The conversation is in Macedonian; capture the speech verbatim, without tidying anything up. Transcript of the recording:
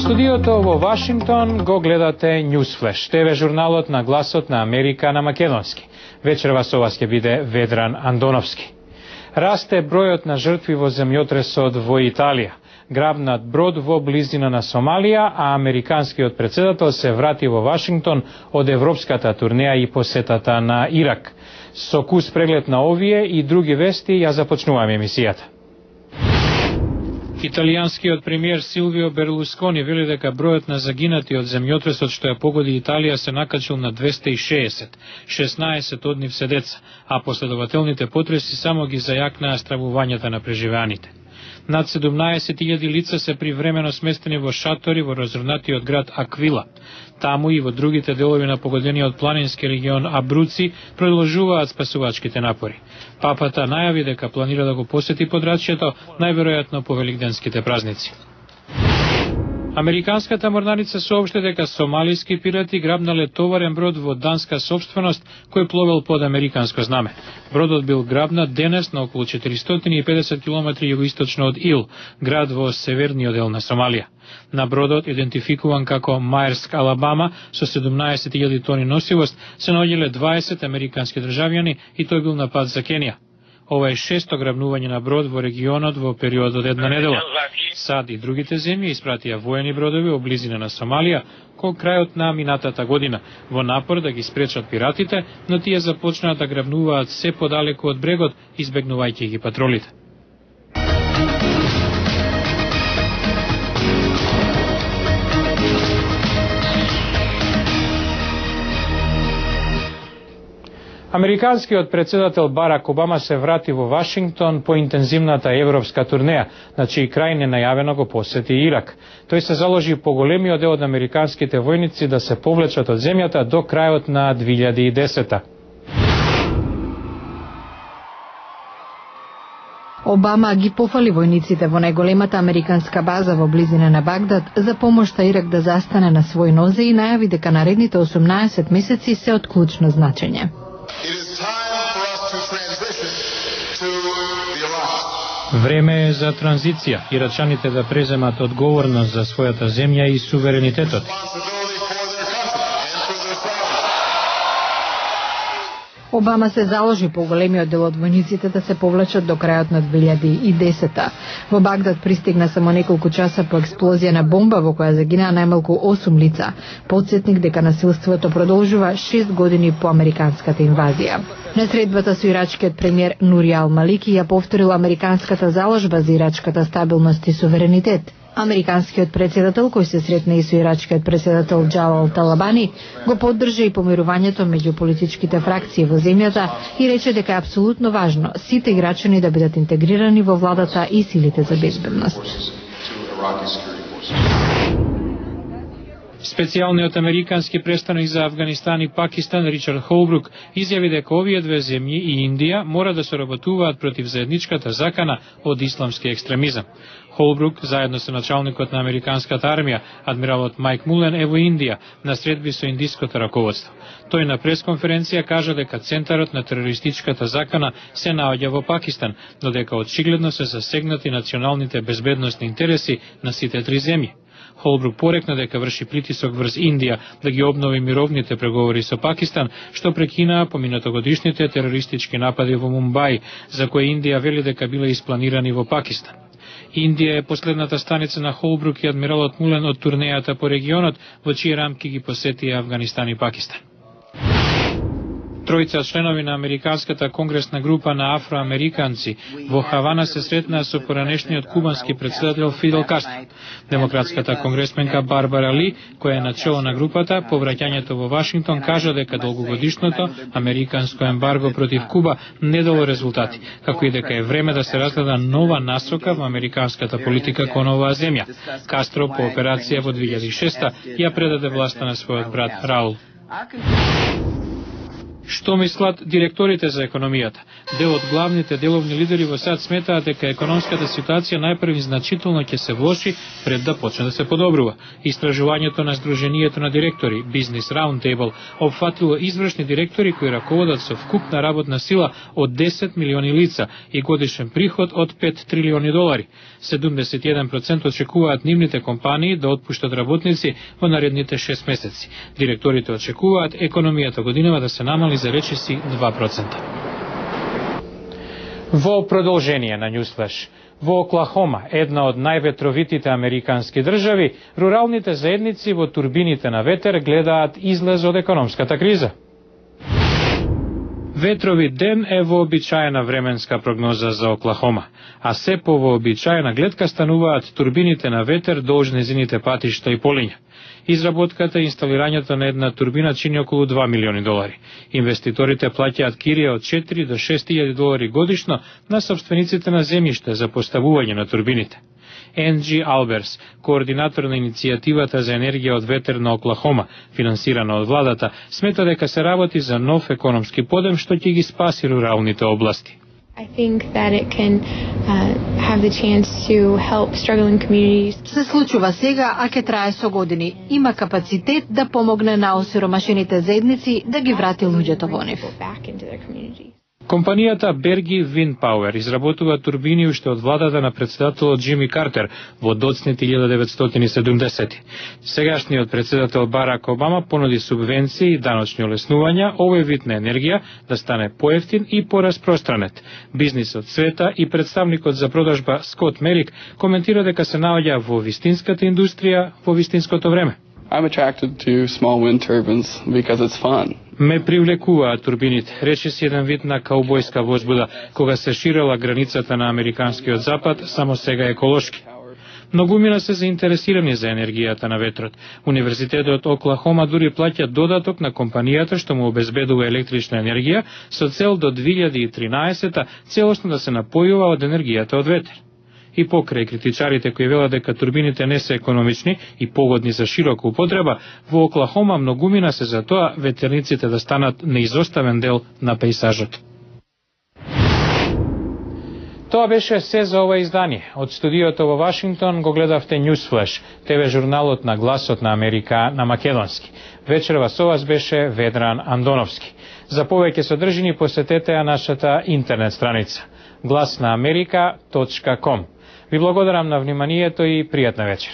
студиото во Вашингтон го гледате Newsflash, ТВ журналот на гласот на Америка на македонски. Вечерва со вас ќе биде Ведран Андоновски. Расте бројот на жртви во земјотресот во Италија. Грабнат брод во близина на Сомалија, а американскиот претседател се врати во Вашингтон од европската турнеја и посетата на Ирак. Со кус преглед на овие и други вести ја започнуваме емисијата. Италијанскиот премиер Силвио Берлускони вели дека бројот на загинати од земјотресот што ја погоди Италија се накачил на двесте и шеесет, шеснаесет од нив се деца, а последователните потреси само ги зајакнаа стравувањата на преживеаните. Над седумнаесет илјади лица се привремено сместени во шатори во разрнатиот град Аквила. Таму и во другите делови на погодениот планински регион Абруци продолжуваат спасувачките напори. Папата најави дека планира да го посети подрачјето, најверојатно по великденските празници. Американската морнарица соопшти дека сомалиски пирати грабнале товарен брод во данска сопственост кој пловел под американско знаме. Бродот бил грабнат денес на околу четиристотини и педесет километри југоисточно од Ил, град во северниот дел на Сомалија. На бродот, идентификуван како Маерск, Алабама, со седумнаесет илјади тони носивост, се наоѓале дваесет американски државјани и тој бил на пат за Кенија. Ова е шесто грабнување на брод во регионот во период од една недела. САД и другите земји испратија воени бродови во близина на Сомалија кон крајот на минатата година, во напор да ги спречат пиратите, но тие започнаа да грабнуваат се подалеку од брегот, избегнувајќи ги патролите. Американскиот претседател Барак Обама се врати во Вашингтон по интензивната европска турнеја, на чиј крај ненајавено го посети Ирак. Тој се заложи по големиот дел од американските војници да се повлечат од земјата до крајот на две илјади и десета. Обама ги пофали војниците во најголемата американска база во близина на Багдад за помошта Ирак да застане на свој нозе и најави дека наредните осумнаесет месеци се од клучно значење. Време е за транзиција, ирачаните да преземат одговорност за својата земја и суверенитетот. Обама се заложи по големиот дел од војниците да се повлечат до крајот на две илјади и десета. Во Багдад пристигна само неколку часа по експлозија на бомба во која загинаа најмалку осум лица. Потсетник дека насилството продолжува шест години по американската инвазија. На средбата со ирачкиот премиер Нури Ал Малики ја повторила американската заложба за ирачката стабилност и суверенитет. Американскиот претседател, кој се сретна и со ирачкиот претседател Џалал Талабани, го поддржа и помирувањето меѓу политичките фракции во земјата и рече дека е апсолутно важно сите ирачани да бидат интегрирани во владата и силите за безбедност. Специјалниот американски представник за Авганистан и Пакистан Ричард Холбрук изјави дека овие две земји и Индија мора да соработуваат против заедничката закана од исламски екстремизам. Холбрук, заедно со началникот на американската армија, адмиралот Мајк Мулен, е во Индија, на средби со индиското раководство. Тој на пресконференција кажа дека центарот на терористичката закана се наоѓа во Пакистан, но дека очигледно се засегнати националните безбедносни интереси на сите три земји. Холбрук порекна дека врши притисок врз Индија да ги обнови мировните преговори со Пакистан, што прекинаа поминатогодишните терористички напади во Мумбај, за кои Индија вели дека биле испланирани во Пакистан. Индија е последната станица на Холбрук и адмиралот Мулен од турнејата по регионот, во чии рамки ги посетија Авганистан и Пакистан. Тројца членови на американската конгресна група на афроамериканци во Хавана се сретнаа со поранешниот кубански претседател Фидел Кастро. Демократската конгресменка Барбара Ли, која е начело на групата, по враќањето во Вашингтон кажа дека долгогодишното американско ембарго против Куба не дало резултати, како и дека е време да се разгледа нова насока во американската политика кон оваа земја. Кастро по операција во две илјади и шеста ја предаде власта на својот брат Раул. Што мислат директорите за економијата? Дел од главните деловни лидери во САД сметаат дека економската ситуација најпрви значително ќе се влоши пред да почне да се подобрува. Истражувањето на Сдруженијето на директори Business Roundtable опфатило извршни директори кои раководат со вкупна работна сила од десет милиони лица и годишен приход од пет трилиони долари. седумдесет и еден проценти очекуваат нивните компании да отпуштат работници во наредните шест месеци. Директорите очекуваат економијата годинава да се намали за речиси два проценти. Во продолжение на Ньюсфлеш, во Оклахома, една од најветровитите американски држави, руралните заедници во турбините на ветер гледаат излез од економската криза. Ветрови ден е вообичаена временска прогноза за Оклахома, а се по вообичаена гледка стануваат турбините на ветер долж незините патишта и полиња. Изработката и инсталирањето на една турбина чини околу два милиони долари. Инвеститорите плаќаат кирија од четири до шест илјади долари годишно на собствениците на земјиште за поставување на турбините. Енджи Алберс, координатор на иницијативата за енергија од ветер на Оклахома, финансирана од владата, смета дека се работи за нов економски подем што ќе ги спаси руралните области. I think that it can uh, have the chance to help struggling communities. Се случува сега, а ќе трае со години. Има капацитет да помогне на осиромашените заедници да ги врати луѓето во нив. Компанијата Bergy Wind Power изработува турбини уште од владата на председателот Џими Картер во доцните илјада деветстотини и седумдесети. Сегашниот председател Барак Обама понуди субвенции и даночни олеснувања овој вид на енергија да стане поевтин и пораспространет. Бизнисот света и представникот за продажба Скот Мерик коментира дека се наоѓа во вистинската индустрија во вистинското време. I'm attracted to small wind turbines because it's fun. Ме привлекуваат турбините, рече си еден вид на каубојска возбуда, кога се ширела границата на американскиот запад, само сега еколошки. Многумина се заинтересирани за енергијата на ветрот. Универзитетот Оклахома дури плаќа додаток на компанијата што му обезбедува електрична енергија со цел до две илјади и тринаесета целосно да се напојува од енергијата од ветер. И покрај критичарите кои велат дека турбините не се економични и погодни за широка употреба, во Оклахома многумина се за тоа ветерниците да станат неизоставен дел на пејзажот. Тоа беше се за ова издание. Од студиото во Вашингтон го гледавте Ньюсфлеш, ТВ журналот на гласот на Америка на македонски. Вечерва со вас беше Ведран Андоновски. За повеќе содржини посетете ја нашата интернет страница глас на америка точка ком. Ви благодарам на вниманието и пријатна вечер.